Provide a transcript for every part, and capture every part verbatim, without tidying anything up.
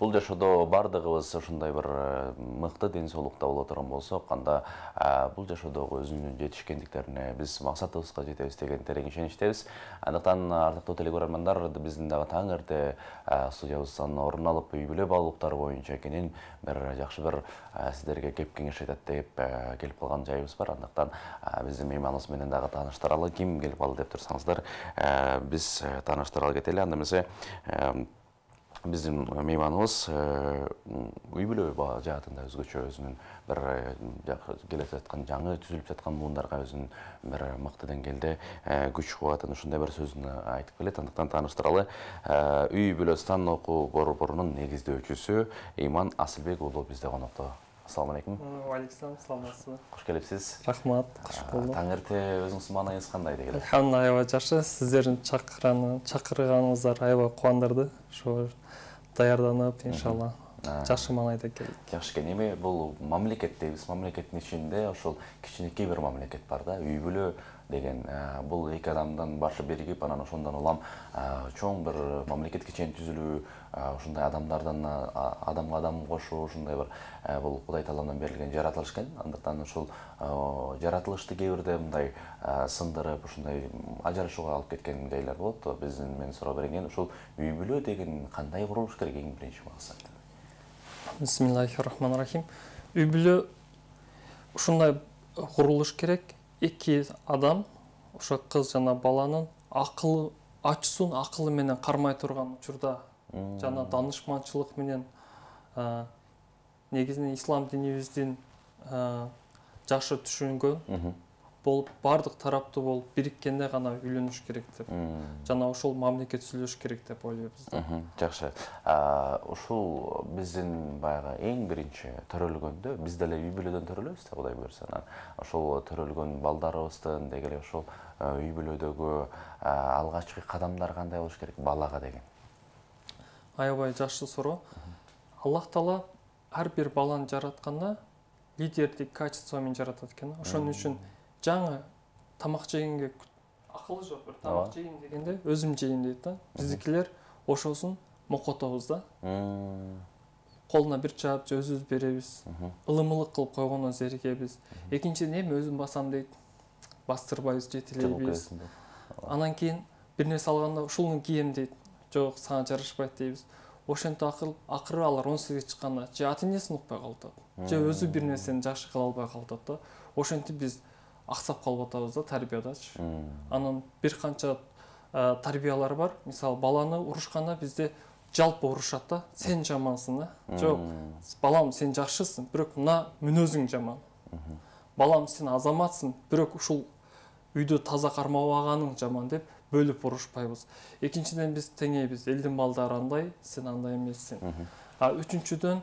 Бул жашоодо бардыгыбыз ушундай бир мыкты ден соолукта боло турган болсок, анда бул жашоодогу өзүнүн жетишкендиктерине, биз максатыбызга жетебиз деген терең ишеничтебиз. Андыктан ардактуу телекөрөрмандар, биздин дагы таң эрте студиябыздан орун алып, үй бүлө баалуулуктары боюнча кенен бир жакшы бир сиздерге кеп кеңеш айтат деп келип калган жайыбыз бар. Андыктан биздин мейманыбыз менен дагы тааныштыралы. Ким келип калды деп турсаңыздар, биз тааныштыралы кетели. Анда эмесе биздин мейманыбыз үй бүлө жаатында өзгөчө өзүнүн бир келе жаткан жаңы түзүлүп жаткан муундарга өзүнүн бир мыкты деңгээлде күч кубатын ушундай бир сөзүн айтып келет. Андыктан тааныштыралы. Үй бүлө станоку борборунун негиздөөчүсү Ыйман Асылбек уулу бизде конокто. Ассаламу алейкум. Алейкум, саламатсызбы? Кош келипсиз. Рахмат, кош болдук. Таң эрте өзүңүздүн маанайыңыз кандай дегиле? Алхамдулилlah, аябай жакшы. Сиздердин чакырганыңыздар аябай кубандырды. Ошо даярданып, иншалла, жакшы маанайда келдик. Жакшы экен. Эми бул мамлекет дейбиз. Мамлекеттин ичинде ошол кичинекей бир мамлекет бар да, үй бүлө деген. Бул эки адамдан башы биригип, анан ошондон улам чоң бир мамлекетке чейин түзүлүү, ушундай адамдардан адамга адам кошуу, ушундай бир бул Кудай тааладан берилген жаратылыш экен. Андыктан ушул жаратылышты кээ бирде мындай сындырып, ушундай ажырашууга алып кеткен жайлар болот. Биздин мен суроо берген ушул үй бүлө деген кандай курулуш керек эң биринчи максат? Бисмиллахир-рахманир-рахим. Үй бүлө ушундай курулуш керек. Эки адам, ошо кыз жана баланын акылы ачуусун акылы менен кармай турган учурда жана данышманчылык менен негизинен ислам динибиздин жакшы түшүнгөн болуп, бардык тараптуу болуп бириккенде гана үйлөнүш керек деп. Жана ошол мамлекет түзүлүш керек деп ойлойбуз да. Жакшы. Ушул биздин баягы эң биринчи төрөлгөндө биз деле үй бүлөдөн төрөлөбүз да, Кудай буйрса. Ошол төрөлгөн балдарыбыздын деги эле ошол үй бүлөдөгү алгачкы кадамдар кандай болуш керек балага деген? Аябай жакшы суроо. Аллах Таала ар бир баланы жаратканда лидердик качество менен жаратат экен. Ошон үчүн жаңы тамак жегенге акылы жок, бир тамак жейин дегенде өзүм жейин дейт да. Биздикилер ошосун мокотобуз да. Колуна бир чаап өзүбүз беребиз. Ылымылык кылып койгондон зеригебиз. Экинчиден эми өзүм басам дейт. Бастырбайбыз, жетелейбиз. Анан кийин бир нерсе алганда ушуну кием дейт. Жок, сага жарашпайт дейбиз. Ошентип акыл акыры алар он сегизге чыкканда же ата энесин укпай калат, же өзү бир нерсени жакшы кыла албай калат да. Ошентип биз аксап калып атабыз да тарбиядачы. Анан бир канча тарбиялар бар. Мисалы, баланы урушканда бизде жалпы урушат да. Сен жамансың да. Жок, балам сен жакшысың, бирок мына мүнөзүң жаман. Балам сен азаматсың, бирок ушул үйдү таза кармабаганың жаман деп бөлүп урушпайбыз. Экинчиден биз теңейбиз. Элдин балдары андай, сен андай эмессиң. А үчүнчүдөн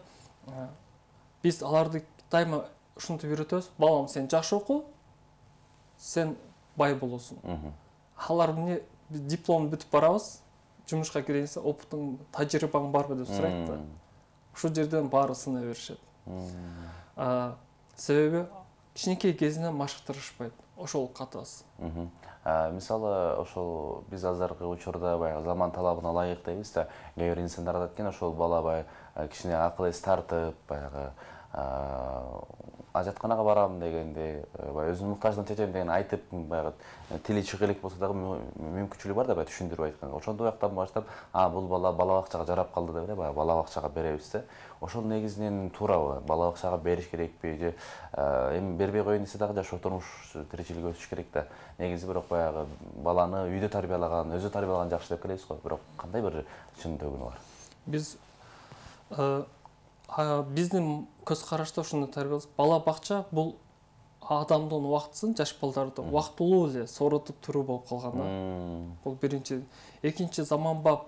биз аларды дайыма ушинтип үйрөтөбүз. Балам сен жакшы оку, сен бай болосуң. Алар эмне диплом бүтүп барабыз, жумушка киргенде опытың, тажрыйбаң барбы деп сурайт да. Ушул жерден баары сына беришет. Себеби кичинекей кезинен машыктырышпайт. Ошол катасы. Мисалы, ошол биз азыркы учурда баягы заман талабына ылайык дейбиз да, кээ бир инсандар айтат экен, ошол бала баягы кичине акыл эс тартып, баягы ажатканага барам дегенде, баягы өзүнүн муктаждыгын чечем деген айтып, баягы тили чыга элек болсо дагы мүмкүнчүлүгү бар да, баягы түшүндүрүп айтканга. Ошондой уяктан баштап, а бул бала бала бакчага жарап калды деп эле, баягы бала бакчага беребиз да. Ошол негизинен туурабы? Бала бакчага бериш керекпи же эми бербей коеюн десе дагы жашоо турмуш тиричилик өтүш керек да. Негизи бирок баягы баланы үйдө тарбиялаган, өзү тарбиялаган жакшы деп келебиз го. Бирок кандай бир чын төгүнү бар? Биз биздин көз карашта ушуну тарбиялайбыз. Бала бакча бул адамдын убактысын, жаш балдарды убактылуу эле сооротуп туруу болуп калган да. Бул биринчи. Экинчи, заманбап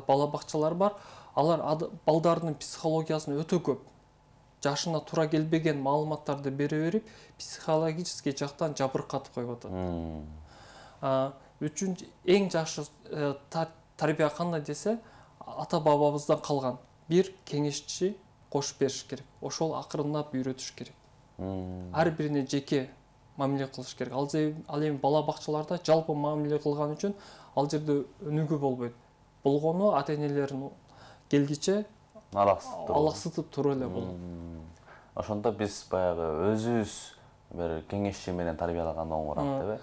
бала бакчалар бар. Алар балдардын психологиясын өтө көп, жашына туура келбеген маалыматтарды бере берип, психологический жактан жабыркатып коюп атат. Үчүнчү, эң жакшы тарбия кандай десе, ата бабабыздан калган. Бир кеңешчи кошуп бериш керек. Ошол акырындап үйрөтүш керек. Ар бирине жеке мамиле кылыш керек. Ал эми бала бакчаларда жалпы мамиле кылган үчүн ал жерде өнүгүү болбойт. Болгону ата энелерин келгиче алаксытып туруп эле болот. Ошондо биз баягы өзүбүз бир кеңешчи менен тарбиялаган оңураак депби?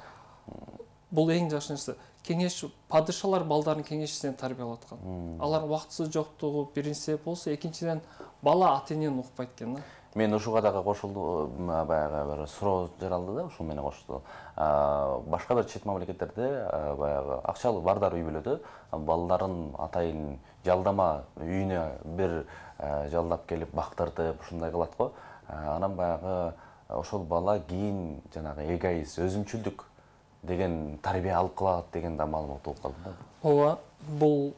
Бул эң жакшы нерсе. Кеңеш падышалар балдарын кеңешчисинен тарбиялап аткан. Алар убактысы жоктугу биринчи себеп болсо, экинчиден бала ата-энени укпайт экен да. Мен ушуга дагы кошулду, баягы бир суроо жаралды да, ушул менен кошту. Башка бир чет мамлекеттерде баягы акчалуу бардар үй бүлөдө балдарын атайын жалдама үйүнө бир жалдап келип бактыртып ушундай кылат го. Анан баягы ошол бала кийин жанагы эгоист, өзүмчүлдүк деген тарбия алып калат деген да маалымат угуп калдым да. Ооба, бул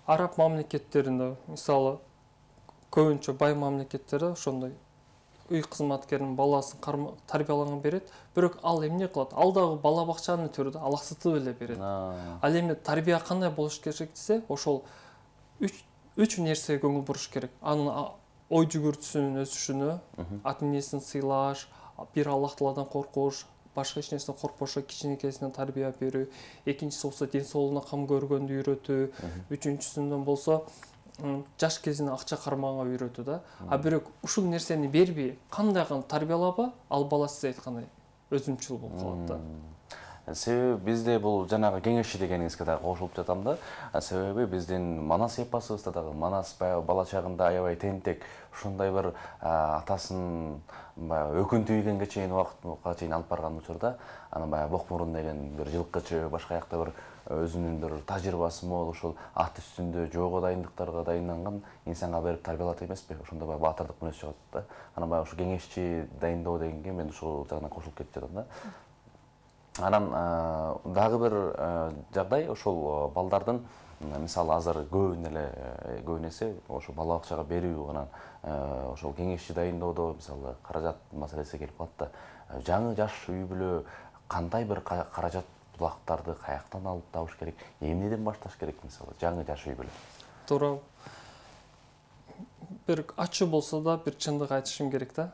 араб мамлекеттеринде, мисалы, көбүнчө бай мамлекеттерде ошондой үй кызматкеринин баласын тарбиялаган берет, бирок ал эмне кылат? Ал дагы бала бакчанын түрүндө алаксытып эле берет. Ал эми тарбия кандай болуш керек десе, ошол үч нерсеге көңүл буруш керек. Анын ой жүгүртүүсүнүн өсүшүнө, ата-энесин сыйлаш, бир Аллах Тааладан коркуш, башка эч нерседен коркпошо кичинекейсинен тарбия берүү, экинчиси болсо ден соолугуна кам көргөндү үйрөтүү, үчүнчүсүндөн болсо жаш кезинен акча кармаганга үйрөтүү да. А бирок ушул нерсени бербей, кандай кылып тарбиялаба, ал бала сиз айткандай өзүмчүл болуп калат да. Себеби бизде бул жанагы кеңешчи дегениңизге дагы кошулуп жатам да. Себеби биздин Манас эпосубузда дагы Манас баягы бала чагында аябай тентек, ушундай бир атасын баягы өкүнтүү ийгенге чейин убакытка чейин алып барган учурда, анан баягы Бокмурун деген бир жылкычы, башка жакта бир өзүнүн бир тажрыйбасы мол, ушул ат үстүндө жоого дайындыктарга дайынданган инсанга берип тарбиялат эмеспи? Ошондо баягы баатырдык мүнөз чыгат да. Анан баягы ушу кеңешчи дайындоо дегенге мен ушул жагынан кошулуп кетип жатам да. Анан дагы бир жагдай, ошол балдардын мисалы азыр көбүн эле көбүн эсе ошо бала бакчага берүү, анан ошол кеңешчи дайындоодо мисалы каражат маселеси келип калат да. Жаңы жаш үй бүлө кандай бир каражат булактарды каяктан алып табыш керек, эмнеден башташ керек мисалы жаңы жаш үй бүлө? Туура. Бир ачуу болсо да бир чындык айтышым керек да.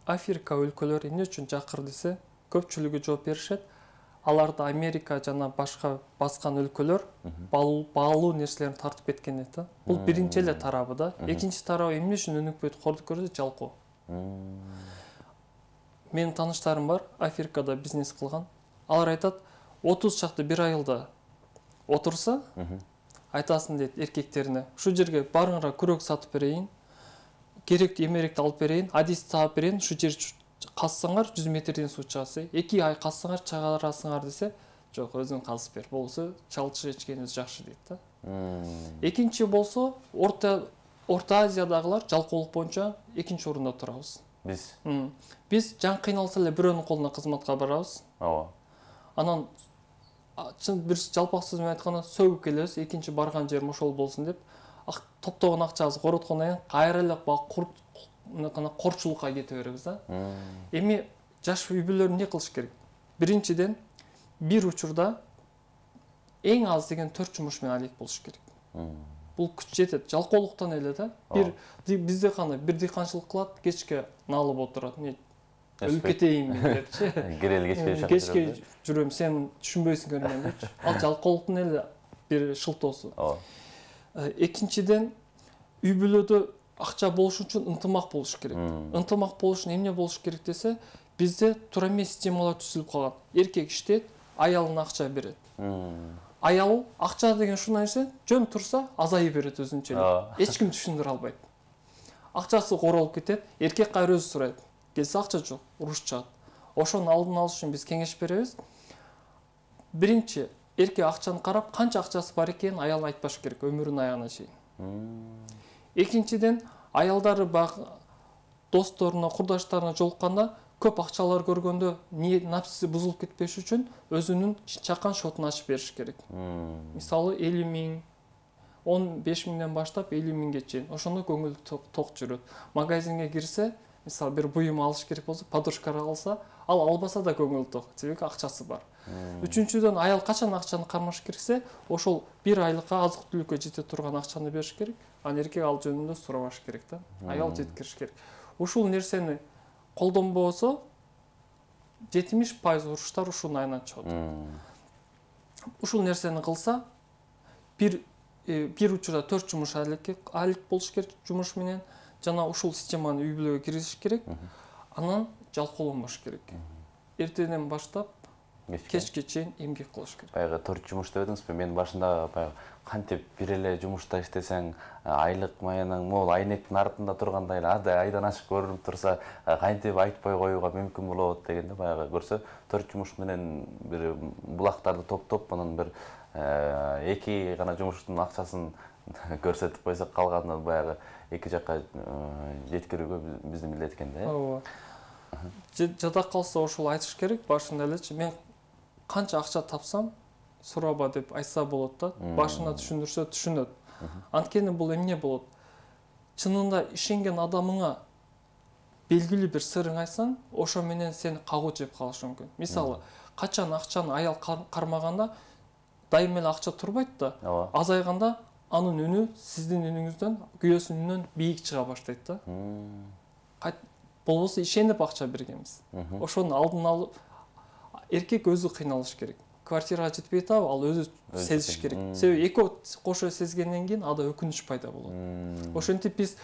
Африка өлкөлөрү эмне үчүн жакыр десе, көпчүлүгү жооп беришет. Аларды Америка жана башка баскан өлкөлөр баалуу нерселерин тартып кеткен дейт да. Бул биринчи эле тарабы да. Экинчи тарабы эмне үчүн өнүкпөйт, кордук көрсө жалкоо. Менин тааныштарым бар, Африкада бизнес кылган. Алар айтат, отуз чакты бир айылда отурса, айтасын дейт эркектерине, ушул жерге барыңар күрөк сатып берейин, керектүү эмеректи алып берейин, адисти таап берейин, ушул жер казсаңар жүз метрден суу чыгасы, эки ай казсаңар чыгарасыңар десе, жок, өзүң казып бер, болсо чалчы ичкенибиз жакшы дейт да. Экинчи болсо, Орто Орто Азиядагылар жалкоолук боюнча экинчи орунда турабыз. Биз Биз жан кыйналса эле бирөөнүн колуна кызматка барабыз. Ооба. Анан чын бир жалпак сөз менен айтканда сөгүп келебиз, экинчи барган жерим ошол болсун деп, топтогон акчабызды короткондон кийин кайра эле корчулукка кете беребиз да. Эми жаш үй бүлөлөр эмне кылыш керек? Биринчиден, бир учурда эң аз деген төрт жумуш менен алек болуш керек. Бул күч жетет, жалкоолуктан эле да. Бир бизде кандай бир дыйканчылык кылат, кечке налып отурат. Эмне өлүп кетейинби депчи. Кирели кечке жакшы. Кечке жүрөм, сен түшүнбөйсүң мен депчи. Ал жалкоолуктун эле бир шылтоосу. Экинчиден, үй бүлөдө акча болуш үчүн ынтымак болуш керек. Ынтымак болуш үчүн эмне болуш керек десе, бизде туура эмес системалар түзүлүп калган. Эркек иштейт, аялына акча берет. Аял акча деген ушундай нерсе, жөн турса азайып берет өзүнчө эле. Эч ким түшүндүрө албайт. Акчасы королуп кетет, эркек кайра өзү сурайт. Келсе акча жок, уруш чыгат. Ошонун алдын алыш үчүн биз кеңеш беребиз. Биринчи, эркек акчаны карап, канча акчасы бар экенин аял айтпаш керек өмүрүнүн аягына чейин. Экинчиден, аялдары баягы досторуна, курдаштарына жолукканда көп акчалар көргөндө напсиси бузулуп кетпеш үчүн өзүнүн чакан шотун ачып бериш керек. Мисалы элүү миң, он беш миңден баштап элүү миңге чейин. Ошондо көңүл ток жүрөт. Магазинге кирсе, мисалы бир буюм алыш керек болсо, подушка алса, ал албаса да көңүл ток, себеби акчасы бар. Үчүнчүдөн, аял качан акчаны кармаш керексе, ошол бир айлыкка азык-түлүккө жете турган акчаны бериш керек, анан эркек ал жөнүндө сурабаш керек да. Аял жеткириш керек. Ушул нерсени колдонбосо, жетимиш пайыз уруштар ушунун айынан чыгат. Ушул нерсени кылса, бир бир учурда төрт жумуш алек болуш керек жумуш менен, жана ушул системаны үй бүлөгө киргизиш керек. Анан жалкоолонбош керек. Эртеден баштап кечке чейин эмгек кылыш керек. Баягы төрт жумуш деп эдиңизби? Мен башында баягы кантип бир эле жумушта иштесең, айлык маянең мол, айнектин артында тургандай эле ада айдан ашык көрүнүп турса, кантип айтпай коюуга мүмкүн болот дегенде, баягы көрсө төрт жумуш менен бир булактарды топтоп, анан бир эки гана жумуштун акчасын көрсөтүп койсок, калганын баягы эки жакка жеткирүүгө биздин милдет экен да. Ооба. Жада калса ошол айтыш керек башында элечи. Мен канча акча тапсам, сураба деп айтса болот да. Башына түшүндүрсө түшүнөт. Анткени бул эмне болот? Чынында ишенген адамыңа белгилүү бир сырың айтсаң, ошо менен сени кагуу жеп калышы мүмкүн. Мисалы, качан акчаны аял кармаганда дайым эле акча турбайт да. Азайганда анын үнү сиздин үнүңүздөн, күйөөсүнүн үнүнөн бийик чыга баштайт да. Болбосо ишенип акча бергенбиз. Ошонун алдын алып, эркек өзү кыйналыш керек. Квартирага жетпей атабы, ал өзү сезиш керек. Себеби экөө кошо сезгенден кийин ада өкүнүч пайда болот. Ошентип биз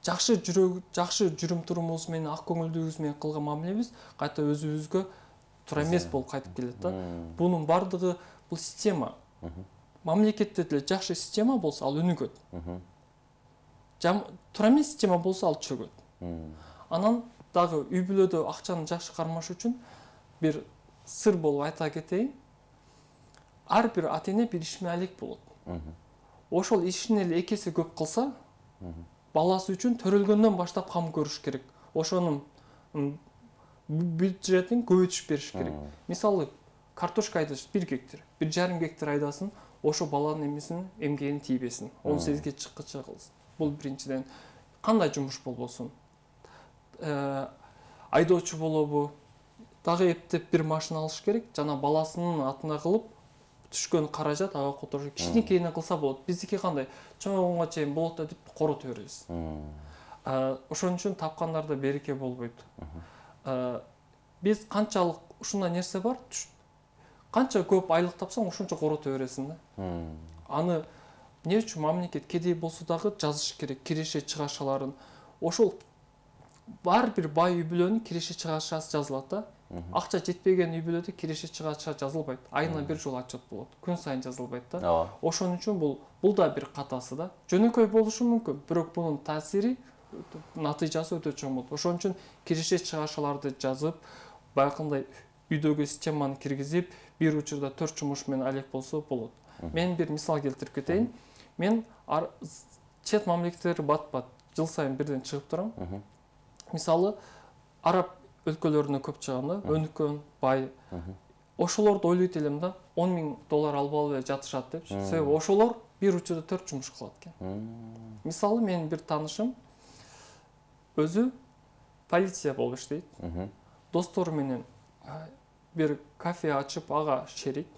жакшы жүрөк, жакшы жүрүм турумубуз менен, ак көңүлдүгүбүз менен кылган мамилебиз кайта өзүбүзгө туура эмес болуп кайтып келет да. Бунун бардыгы бул система. Мамлекетте деле жакшы система болсо, ал өнүгөт. Туура эмес система болсо, ал чөгөт. Анан дагы үй бүлөдө акчаны жакшы кармаш үчүн бир сыр болуп айта кетейин. Ар бир ата-эне бир ишмалик болот. Ошол ишин эле эки эсе көп кылса, баласы үчүн төрөлгөндөн баштап кам көрүш керек. Ошонун бюджетин көбөйтүш бериш керек. Мисалы, картошка айдаш бир гектар, бир жарым гектар айдасын, ошо баланын эмесин эмгегин тийбесин, он сегизге чыккыча кылсын. Бул биринчиден. Кандай жумуш болбосун? Айдоочу болобу? Дагы эптеп бир машина алыш керек, жана баласынын атына кылып, түшкөн каражат ага которуш. Кичинекейине кылса болот. Биздики кандай? Чоңойгонго чейин болот да деп корото беребиз. Ошон үчүн тапкандарда береке болбойт. Биз канчалык ушундай нерсе бар, канча көп айлык тапсаң, ошончо корото бересиң да. Аны эмне үчүн мамлекет кедей болсо дагы жазыш керек, киреше чыгашаларын. Ошол бар бир бай үй бүлөнүн киреше чыгашасы жазылат да. Акча жетпеген үй бүлөдө киреше чыгача жазылбайт. Айына бир жолу отчет болот. Күн сайын жазылбайт да. Ошон үчүн бул бул да бир катасы да. Жөнөкөй болушу мүмкүн, бирок бунун таасири, натыйжасы өтө чоң болот. Ошон үчүн киреше чыгашаларды жазып, баягындай үйдөгү системаны киргизип, бир учурда төрт жумуш менен алек болсо болот. Мен бир мисал келтирип кетейин. Мен чет мамлекеттер бат-бат жыл сайын бирден чыгып турам. Мисалы, араб өлкөлөрүнө көп чыгам да, өнүккөн, бай. Ошолорду ойлойт элем да, он миң доллар алып алып эле жатышат депчи. Себеби ошолор бир учурда төрт жумуш кылат экен. Мисалы, менин бир таанышым өзү полиция болуп иштейт. Достору менен бир кафе ачып, ага шерик.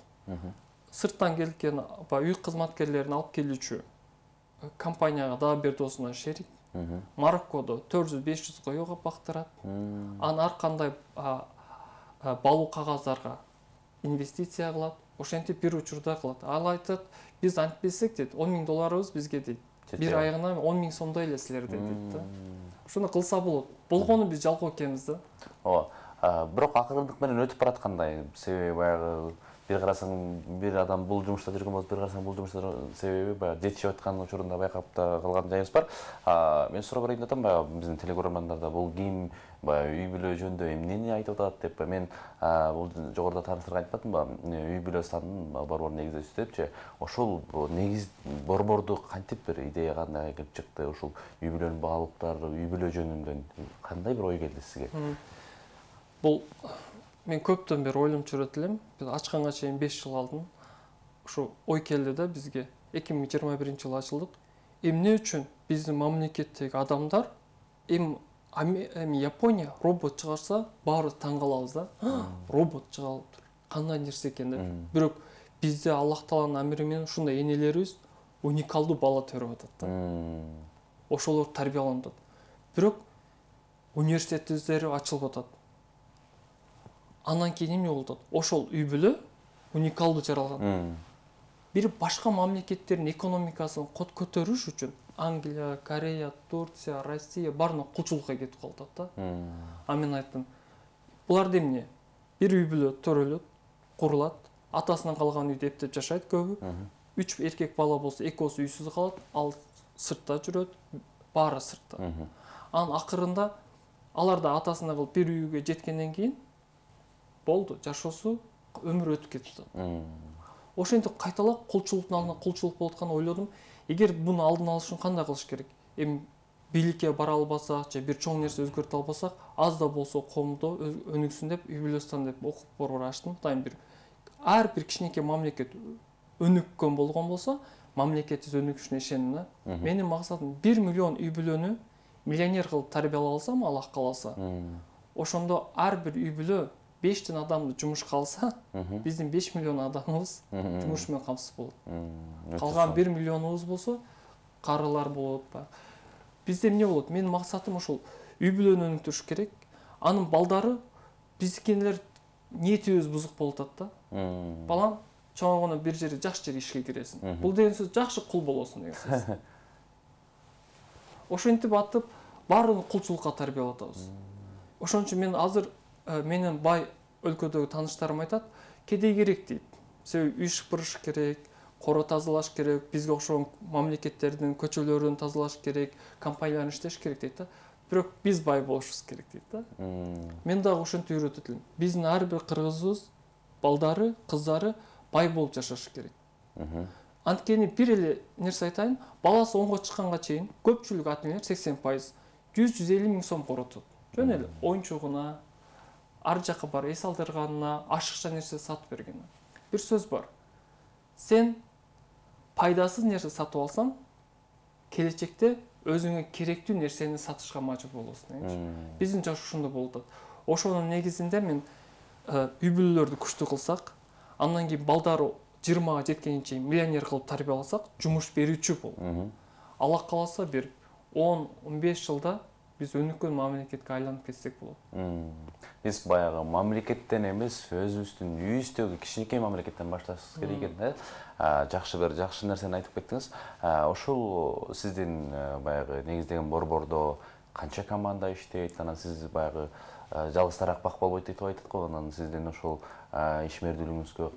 Сырттан келген үй кызматкерлерин алып келүүчү компанияга дагы бир досуна шерик. Мароккодо төрт жүз беш жүз коёго бактырат. Анан ар кандай балуу кагаздарга инвестиция кылат. Ошентип бир учурда кылат. Ал айтат, биз антпесек дейт, он миң долларыбыз бизге дейт. Бир айына он миң сомдой эле силерде дейт да. Ошону кылса болот. Болгону биз жалкоо экенбиз да. Ооба. Бирок акырындык менен өтүп бараткандай. Себеби баягы бир карасаң бир адам бул жумушта жүргөн болот, бир карасаң бул жумушта себеби баягы жетишип аткан учурунда байкап да калган жайыбыз бар. Мен суроо берейин деп атам, баягы биздин телекөрөрмандарда бул ким, баягы үй бүлө жөнүндө эмнени айтып атат деп. Мен бул жогоруда тааныштарга айтып атамбы, үй бүлө санын борбор негиздөөчүсү депчи. Ошол негиз борборду кантип бир идея кандай келип чыкты? Ушул үй бүлөнүн баалуулуктары, үй бүлө жөнүндө кандай бир ой келди сизге? Бул мен көптөн бери ойлонуп жүрөт элем. Биз ачканга чейин беш жыл алдын ушу ой келди да бизге. эки миң жыйырма биринчи жылы ачылдык. Эмне үчүн биздин мамлекеттеги адамдар эми эми Япония робот чыгарса, баарыбыз таң калабыз да. Робот чыгарып, кандай нерсе экен деп. Бирок бизде Аллах Тааланын амри менен ушундай энелерибиз уникалдуу бала төрөп атат да. Ошолор тарбияланып атат. Бирок университеттери ачылып атат. Андан кийин эмне болуп атат? Ошол үй бүлө уникалдуу жаралган. бир башка мамлекеттердин экономикасын кот көтөрүш үчүн Англия, Корея, Турция, Россия баарына кулчулукка кетип калат да. А мен айттым, булар эмне? Бир үй бүлө төрөлөт, курулат, атасынан калган үйдө эптеп жашайт көбү. Үч эркек бала болсо, экөөсү үйсүз калат, ал сыртта жүрөт, баары сыртта. Анын акырында алар да атасына кылып бир үйгө жеткенден кийин болду, жашоосу өмүр өтүп кетти. Ошентип кайталап кулчулуктун алдына кулчулук болуп атканын ойлодум. Эгер буну алдын алыш үчүн кандай кылыш керек? Эми бийликке бара албасак, же бир чоң нерсе өзгөртө албасак, аз да болсо коомдо өнүксүн деп, үй бүлөстөн деп окуп борбор ачтым. Дайым бир ар бир кичинекей мамлекет өнүккөн болгон болсо, мамлекетибиз өнүгүшүнө ишенем да. Менин максатым бир миллион үй бүлөнү миллионер кылып тарбиялай алсам, Аллах кааласа, ошондо ар бир үй бүлө бештен адамды жумушка алса, биздин беш миллион адамыбыз жумуш менен камсыз болот. Калган бир миллионубуз болсо, карылар болот. Бизде эмне болот? Менин максатым ошол үй бүлөнү өнүктүрүш керек. Анын балдары биздикилер ниетибиз бузук болуп атат да. Балам чоңойгондо бир жери жакшы жер ишке киресиң. Бул деген сөз жакшы кул болосуң деген сөз. Ошентип атып, баарын кулчулукка тарбиялап атабыз. Ошон үчүн мен азыр менин бай өлкөдөгү тааныштарым айтат, кедей керек дейт. Себеби үй шыпырыш керек, коро тазалаш керек, бизге окшогон мамлекеттердин көчөлөрүн тазалаш керек, компанияларын иштеш керек дейт да. Бирок биз бай болушубуз керек дейт да. Мен дагы ошентип үйрөтөт элем. Биздин ар бир кыргызыбыз, балдары, кыздары бай болуп жашашы керек. Анткени бир эле нерсе айтайын, баласы онго чыкканга чейин көпчүлүк ата энелер сексен пайыз жүз жүз элүү миң сом коротот. Жөн эле оюнчугуна, ар жакка барып эс алдырганына, ашыкча нерсе сатып бергенине. Бир сөз бар. Сен пайдасыз нерсе сатып алсаң, келечекте өзүңө керектүү нерсени сатышка мажбур болосуң дегенчи. Биздин жаш ушундай болуп атат. Ошонун негизинде мен үй бүлөлөрдү күчтүү кылсак, андан кийин балдары жыйырмага жеткенге чейин миллионер кылып тарбияласак, жумуш берүүчү болуп. Аллах кааласа бир он он беш жылда биз өнүккөн мамлекетке айланып кетсек болот. Биз баягы мамлекеттен эмес, өзүбүздүн үйүбүздөгү кичинекей мамлекеттен башташыбыз керек экен да. Жакшы бир жакшы нерсени айтып кеттиңиз. Ошол сиздин баягы негиздеген борбордо канча команда иштейт? Анан сиз баягы жалгыз таракпак болбойт деп айтат го. Анан сиздин ошол ишмердүүлүгүңүзгө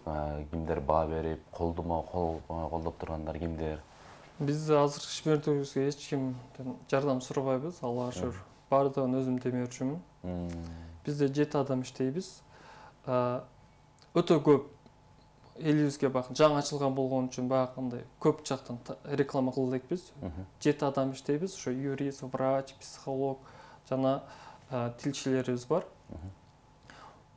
кимдер баа берип, колдомо колдоп тургандар кимдер? Биз азыр ишмердүүлүгүбүзгө эч кимден жардам сурабайбыз, Аллага шүгүр. Баардыгын өзүм демөөрчүмүн. Бизде жети адам иштейбиз. Өтө көп элибизге бакын жаңы ачылган болгон үчүн баягындай көп жактан реклама кыла элекпиз. жети адам иштейбиз. Ошо юрист, врач, психолог жана тилчилерибиз бар.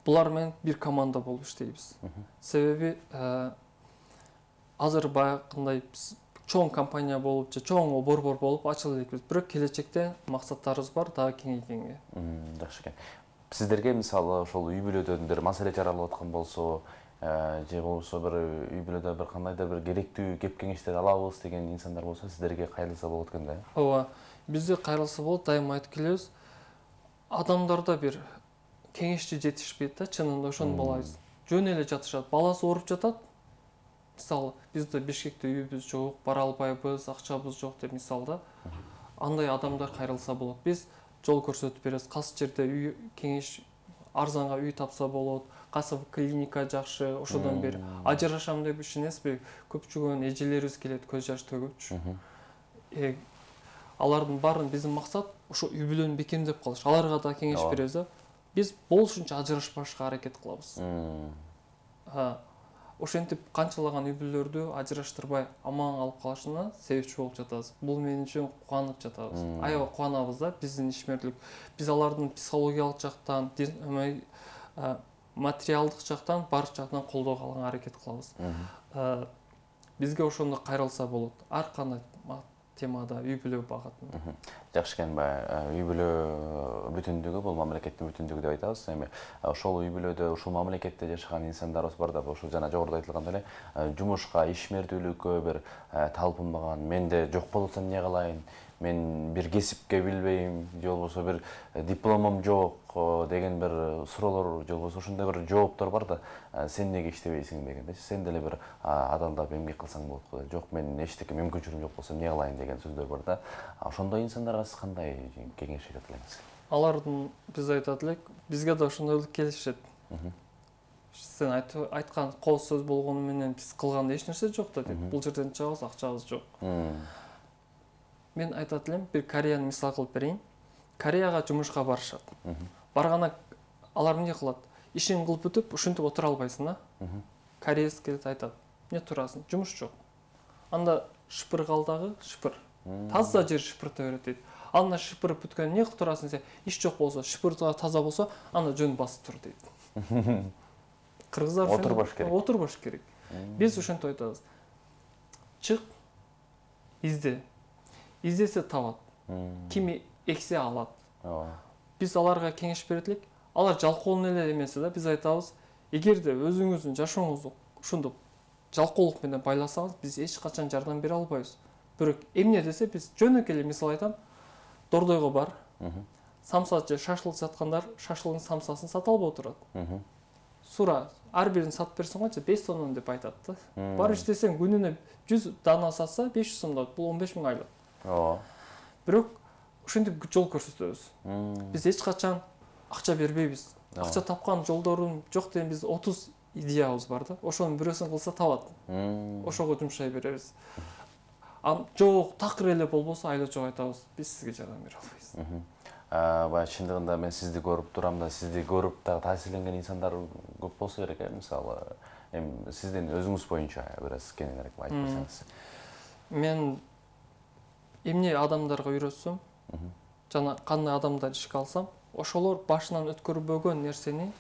Булар менен бир команда болуп иштейбиз. Себеби азыр баягындай чоң компания болуп, же чоң борбор болуп ачыла элекпиз. Бирок келечекте максаттарыбыз бар, дагы кеңейгенге. Жакшы экен. Сиздерге мисалы ошол үй бүлөдөн бир маселе жаралып аткан болсо, же болбосо бир үй бүлөдө бир кандайдыр бир керектүү кеп кеңештер алабыз деген инсандар болсо, сиздерге кайрылса болот экен да. Ооба, бизге кайрылса болот, дайыма айтып келебиз. Адамдарда бир кеңешчи жетишпейт да, чынында ошону балайбыз. Жөн эле жатышат, баласы ооруп жатат. Мисалы, бизде Бишкекте үйүбүз жок, бара албайбыз, акчабыз жок деп мисалда. Андай адамдар кайрылса болот. Биз жол көрсөтүп беребиз. Кайсы жерде үй кеңеш арзанга үй тапса болот, кайсы клиника жакшы, ошодон бери ажырашам деп ишенесизби? Көпчүгөн эжелерибиз келет көз жаш төгүпчү. Э алардын баарын биздин максат ошо үй бүлөнү бекемдеп калыш. Аларга да кеңеш беребиз да. Биз болушунча ажырашпашка аракет кылабыз. Ошентип канчалаган үй бүлөлөрдү ажыраштырбай аман алып калышына себепчи болуп жатабыз. Бул менин үчүн кубанып жатабыз. Аябай кубанабыз да биздин ишмерлик. Биз алардын психологиялык жактан, материалдык жактан, баардык жактан колдоого алганга аракет кылабыз. Бизге ошондо кайрылса болот. Ар кандай темада үй бүлө багатын. Жакшы экен, үй бүлө бүтүндүгү бул мамлекеттин бүтүндүгү деп айтабыз. Эми ошол үй бүлөдө, ушул мамлекетте жашаган инсандарыбыз бар да, ошол жана жогоруда айтылгандай эле жумушка, ишмердүүлүккө бир талпынбаган, менде жок болуп атса эмне кылайын, мен бир кесипке билбейм же болбосо бир дипломум жок деген бир суроолор же болбосо ошондой бир жооптор бар да, сен эмнеге иштебейсиң дегендечи, сен деле бир адамдап эмгек кылсаң болот го, жок мен эчтеке мүмкүнчүлүгүм жок болсо эмне кылайын деген сөздөр бар да. Ошондой инсандарга сиз кандай кеңеш берет элеңиз? Алардын биз айтат элек, бизге да ошондой келишет. Сен айткан кооз сөз болгону менен биз кылганда эч нерсе жок да деп. Бул жерден чыгабыз, акчабыз жок. Мен айтат элем, бир Кореяны мисал кылып берейин. Кореяга жумушка барышат. Барганда алар эмне кылат? Ишин кылып бүтүп, ушинтип отура албайсың да. Кореец келет айтат, эмне турасың? Жумуш жок. Анда шыпыр калдагы, шыпыр. Таза жер шыпырта берет дейт. Анда шыпырып бүткөн эмне кылып турасың десе, иш жок болсо, шыпыр таза болсо, анда жөн басып тур дейт. Кыргыздар отурбаш керек. Отурбаш керек. Биз ошентип айтабыз. Чык, изде. Издесе табат. Ким эксе алат. Биз аларга кеңеш берет элек. Алар жалкоолун эле эмеси да, биз айтабыз, эгерде өзүңүздүн жашооңузду ушундук жалкоолук менен байласаңыз, биз эч качан жардам бере албайбыз. Бирок эмне десе, биз жөнөкөй эле мисал айтам. Дордойго бар. Самса же шашлык саткандар шашлыгын самсасын сата албай отурат. Сура, ар бирин сатып берсең ачы беш сомдон деп айтат да. Бар иштесең күнүнө жүз дана сатса беш жүз сомдон, бул он беш миң айлык. Ооба. Бирок ошентип жол көрсөтөбүз. Биз эч качан акча бербейбиз. Акча тапкан жолдорун жок деген биз отуз идеябыз бар да. Ошонун бирөөсүн кылса табат. Ошого жумшай беребиз. Ам жок, такыр эле болбосо айла жок айтабыз. Биз сизге жардам бере албайбыз. Баягы чындыгында мен сизди көрүп турам да, сизди көрүп дагы таасирленген инсандар көп болсо керек, мисалы, эми сиздин өзүңүз боюнча бир аз кеңирээк айтып берсеңиз. Мен эмне адамдарга үйрөтсөм, жана кандай адамдар ишке алсам, ошолор башынан өткөрбөгөн нерсени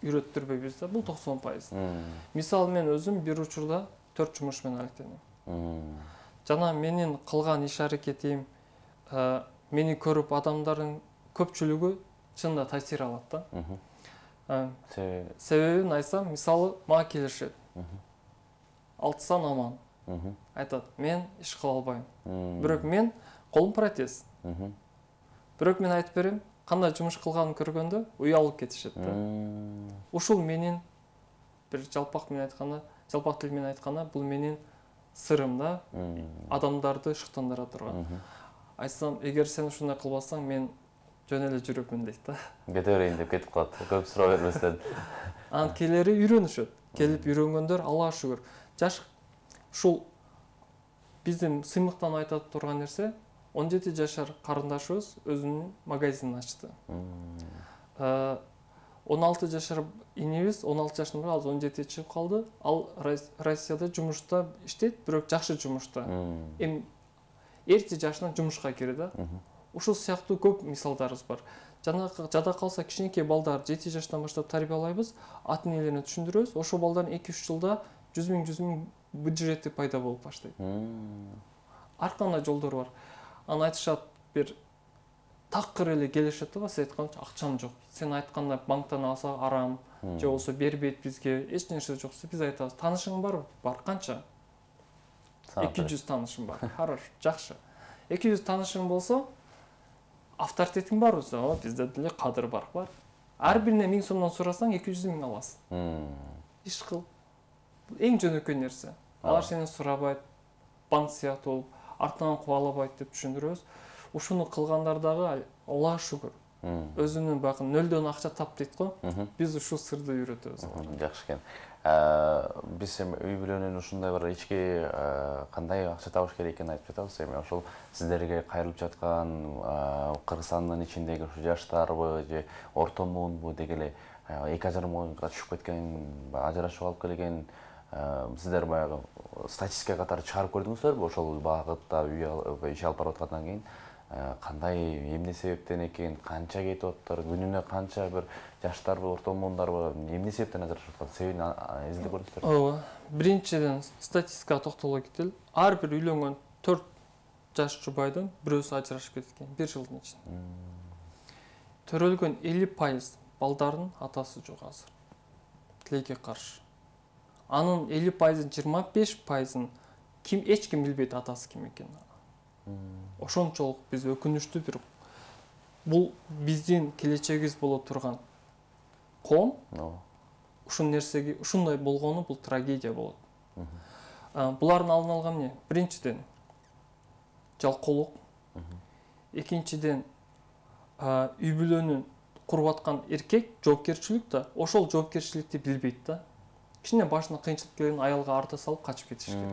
үйрөттүрбөйбүз да, бул токсон пайыз. Мисалы мен өзүм бир учурда төрт жумуш менен алектендим. Жана менин кылган иш аракетим, мени көрүп адамдардын көпчүлүгү чынында таасир алат да. Себебин айтсам, мисалы мага келишет. Алтысан аман. Айтат, мен иш кыла албайм. Бирок мен колум протез. Бирок мен айтып берем, кандай жумуш кылганын көргөндө уялып кетишет да. Ушул менин бир жалпак менен айтканда, жалпак тил менен айтканда, бул менин сырым да, адамдарды шыктандыра турган. Айтсам, эгер сен ушундай кылбасаң, мен жөн эле жүрөмүн дейт да. Кете берейин деп кетип калат, көп суроо бербестен. Анан келери үйрөнүшөт. Келип үйрөнгөндөр Аллага шүгүр. Жаш ушул биздин сыймыктан айтат турган нерсе, он жети жашар карындашыбыз өзүнүн магазинин ачты. он алты жашар инебиз, он алты жашында, азыр он жетиге чыгып калды. Ал Россияда жумушта иштейт, бирок жакшы жумушта. Эми эрте жашынан жумушка кирди да. Ушул сыяктуу көп мисалдарыбыз бар. Жана жада калса кичинекей балдар жети жаштан баштап тарбиялайбыз, ата энелерине түшүндүрөбүз. Ошол балдардын эки үч жылда жүз миң жүз миң бюджети пайда болуп баштайт. Ар кандай жолдор бар. Анан айтышат, бир такыр эле келишет да, сиз айтканча акчам жок. Сен айткандай банктан алса арам, же болсо бербейт бизге, эч нерсе жок. Биз айтабыз, таанышың барбы? Бар, канча? эки жүз таанышым бар. Хорошо, жакшы. эки жүз таанышың болсо, авторитетиң барбы? О, бизде деле кадыр бар, бар. Ар бирине миң сомдон сурасаң, эки жүз миң аласың. Иш кыл. Эң жөнөкөй нерсе. Алар сенен сурабайт, банк сыяктуу болуп, артынан кубалабайт деп түшүндүрөбүз. Ушуну кылгандар дагы Аллага шүгүр. Өзүнүн бакын нөлдөн акча тап дейт го. Биз ушул сырды үйрөтөбүз. Жакшы экен. Биз эми үй бүлөнүн ушундай бир ички кандай акча табыш керек экенин айтып жатабыз. Эми ошол сиздерге кайрылып жаткан Кыргызстандын ичиндеги ушу жаштарбы же орто муунбу деги эле эки ажырамга түшүп кеткен, ажырашып алып келген сиздер баягы статистика катары чыгарып көрдүңүздөрбү? Ошол багытта иш алып барып аткандан кийин кандай, эмне себептен экен, канча кетип атыптыр, күнүнө канча бир жаштарбы, орто муундарбы, эмне себептен ажырашып аткан, себебин изилдеп көрдүңүздөрбү? Ооба. Биринчиден статистикага токтоло кетели. Ар бир үйлөнгөн төрт жаш жубайдын бирөөсү ажырашып кеткен бир жылдын ичинде. Төрөлгөн элүү пайыз балдардын атасы жок азыр. Тилекке каршы. Анын элүү пайыздын жыйырма беш пайызын ким эч ким билбейт атасы ким экенин. Ошончолук биз өкүнүчтүү бир бул биздин келечегибиз боло турган коом ушул нерсеге ушундай болгону бул трагедия болот. Булардын алдын алган эмне? Биринчиден жалкоолук, экинчиден үй бүлөнү куруп аткан эркек жоопкерчилик да, ошол жоопкерчиликти билбейт да. Кичине башына кыйынчылык келген аялга арта салып качып кетиш керек.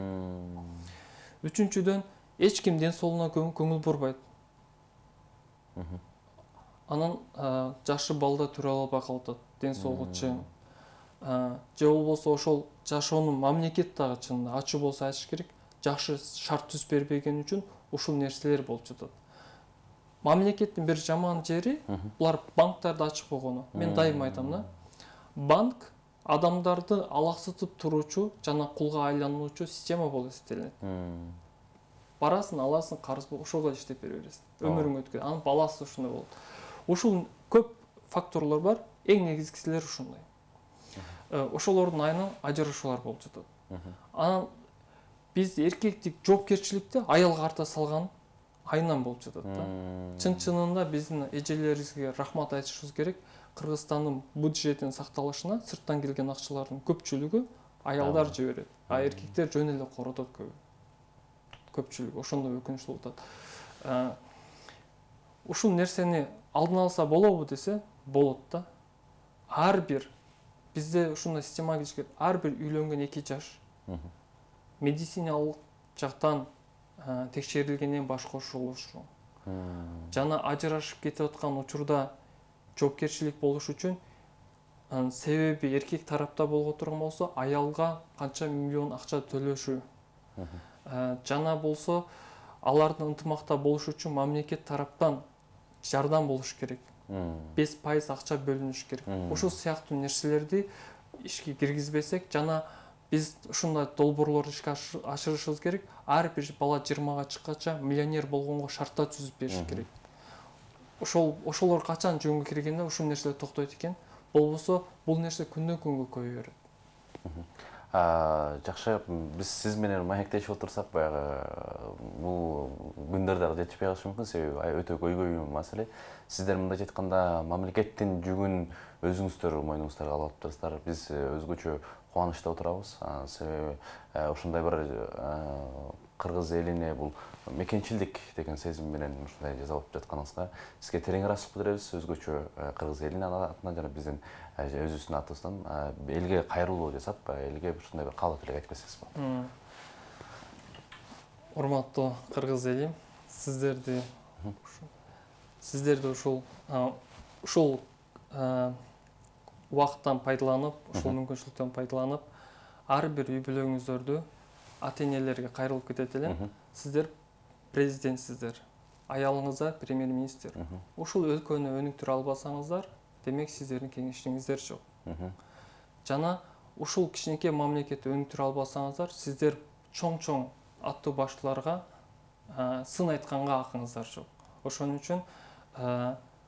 Үчүнчүдөн эч ким ден соолугуна көңүл бурбайт. Анан жашы балда төрө албай калып атат, ден соолугу чың. Же болбосо ошол жашоонун мамлекет дагы чынында ачуу болсо айтыш керек, жакшы шарт түзүп бербеген үчүн ушул нерселер болуп жатат. Мамлекеттин бир жаман жери булар банктарды ачып койгону. Мен дайыма айтам да. Банк адамдарды алаксытып туруучу жана кулга айлануучу система болуп эсептелинет. Барасың, аласың, карыз ошого иштеп бере бересиң. Өмүрүң өткөн. Анын баласы ушундай болот. Ушул көп факторлор бар. Эң негизгиселери ушундай. Ошолордун айынан ажырашуулар болуп жатат. Анан биз эркектик жоопкерчиликти аялга арта салган айынан болуп жатат да. Чын-чынында биздин эжелерибизге рахмат айтышыбыз керек. Кыргызстандын бюджетинин сакталышына сырттан келген акчалардын көпчүлүгү аялдар жиберет, а эркектер жөн эле коротот көбү. Көпчүлүгү ошондой өкүнүчтүү болуп атат. Ушул нерсени алдын алса болобу десе, болот да. Ар бир бизде ушундай система келиш керек. Ар бир үйлөнгөн эки жаш медициналык жактан текшерилгенден баш кошулушу. Жана ажырашып кетип аткан учурда жоопкерчилик болуш үчүн себеби эркек тарапта болго турган болсо, аялга канча миллион акча төлөшү. Жана болсо, алардын ынтымакта болуш үчүн мамлекет тараптан жардам болуш керек. беш пайыз акча бөлүнүш керек. Ушул сыяктуу нерселерди ишке киргизбесек, жана биз ушундай долбоорлорду ишке ашырышыбыз керек. Ар бир бала жыйырмага чыккача миллионер болгонго шарттар түзүп бериш керек. Ошол ошолор качан жөнгө киргенде ушул нерселер токтойт экен. Болбосо бул нерсе күндөн күнгө көбөйө берет. Жакшы, биз сиз менен маектешип отурсак, баягы бул күндөр дагы жетишпей калышы мүмкүн, себеби өтө көйгөй маселе. Сиздер мындайча айтканда мамлекеттин жүгүн өзүңүздөр мойнуңуздарга алып атыптырсыздар. Биз өзгөчө кубанычта отурабыз. Себеби ушундай бир кыргыз элине бул мекенчилдик деген сезим менен ушундай жасап жатканыңызга сизге терең ыраазычылык билдиребиз. Өзгөчө кыргыз элинин атынан жана биздин өзүбүздүн атыбыздан элге кайрылуу жасап, элге ушундай бир каалоо тилек айтып кетсеңиз болот. Урматтуу кыргыз элим, сиздерди сиздерди ушул ушул убакыттан пайдаланып, ушул мүмкүнчүлүктөн пайдаланып, ар бир үй бүлөңүздөрдү ата-энелерге кайрылып кетет элем. Сиздер президентсиздер, аялыңыздар премьер-министр. Ушул өлкөнү өнүктүрө албасаңыздар, демек сиздердин кеңешиңиздер жок. Жана ушул кичинекей мамлекетти өнүктүрө албасаңыздар, сиздер чоң-чоң аттуу баштууларга сын айтканга акыңыздар жок. Ошон үчүн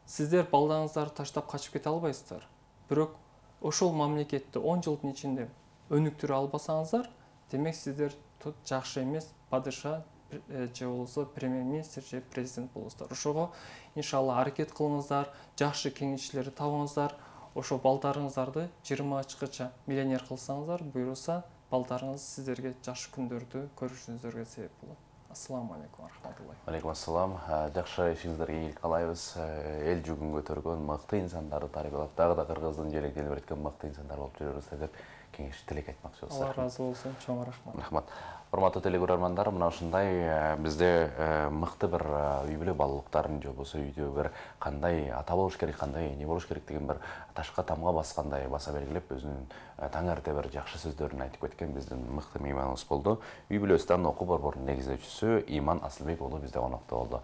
сиздер балдарыңыздарды таштап качып кете албайсыздар. Бирок ошол мамлекетти он жылдын ичинде өнүктүрө албасаңыздар, демек сиздер жакшы эмес падыша же болбосо премьер-министр же президент болосуздар. Ошого иншалла аракет кылыңыздар, жакшы кеңешчилерди табыңыздар. Ошо балдарыңыздарды жыйырмага чыккача миллионер кылсаңыздар, буюрса балдарыңыз сиздерге жакшы күндөрдү көрүшүңүздөргө себеп болот. Ассаламу алейкум рахматуллахи. Алейкум ассалам. Жакшы ишиңиздерге ийгилик каалайбыз. Эл жүгүн көтөргөн мыкты инсандарды тарбиялап, дагы да кыргыздын желек желбиреткен мыкты инсандар болуп жүрөбүз деп кеңеш тилек айтмакчы болсок. Алла ыраазы болсун. Чоң рахмат. Рахмат. Урматтуу телекөрөрмандар, мына ушундай бизде мыкты бир үй бүлө баалуулуктарын же болбосо үйдө бир кандай ата болуш керек, кандай эне болуш керек деген бир ташка тамга баскандай баса белгилеп, өзүнүн таң эрте бир жакшы сөздөрүн айтып кеткен биздин мыкты мейманыбыз болду. Үй бүлөстан окуу борборунун негиздөөчүсү Иман Асылбек уулу бизде конокто болду.